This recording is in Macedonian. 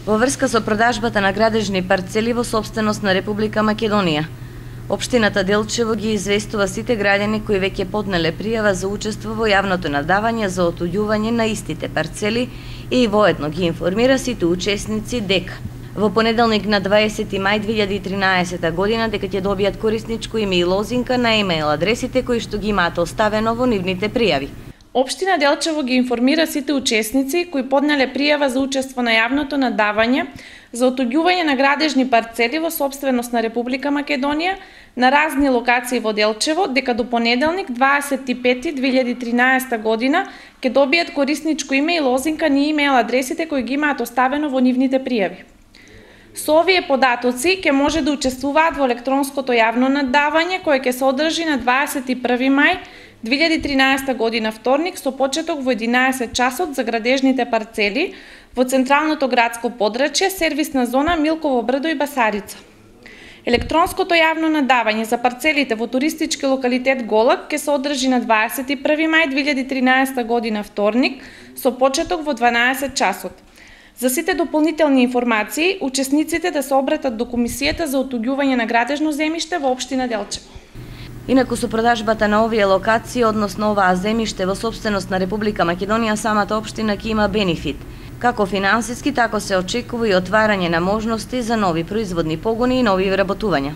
во врска со продажбата на градежни парцели во сопственост на Република Македонија. Општината Делчево ги известува сите граѓани кои веќе поднеле пријава за учество во јавното надавање за отуѓување на истите парцели и воедно ги информира сите учесници дека во понеделник на 20 мај 2013 година дека ќе добијат корисничко име и лозинка на имејл адресите кои што ги имаат оставено во нивните пријави. Општина Делчево ги информира сите учесници кои поднеле пријава за учество на јавното надавање за отуѓување на градежни парцели во сопственост на Република Македонија на разни локации во Делчево дека до понеделник 25.2013 година ќе добијат корисничко име и лозинка на имејл адресите кои ги имаат оставено во нивните пријави. Со овие податоци ќе може да учествуваат во електронското јавно надавање кое ќе се одржи на 21 мај 2013 година вторник со почеток во 11 часот за градежните парцели во централното градско подрачје, сервисна зона Милково брдо и Басарица. Електронското јавно надавање за парцелите во туристички локалитет Голак ќе се одржи на 21 мај 2013 година вторник со почеток во 12 часот. За сите дополнителни информации, учесниците да се обратат до Комисијата за отуѓување на градежно земјиште во општина Делчево. Инаку со продажбата на овие локации, односно оваа земјиште во сопственост на Република Македонија, самата општина ќе има бенефит. Како финансиски, така се очекува и отварање на можности за нови производни погони и нови вработувања.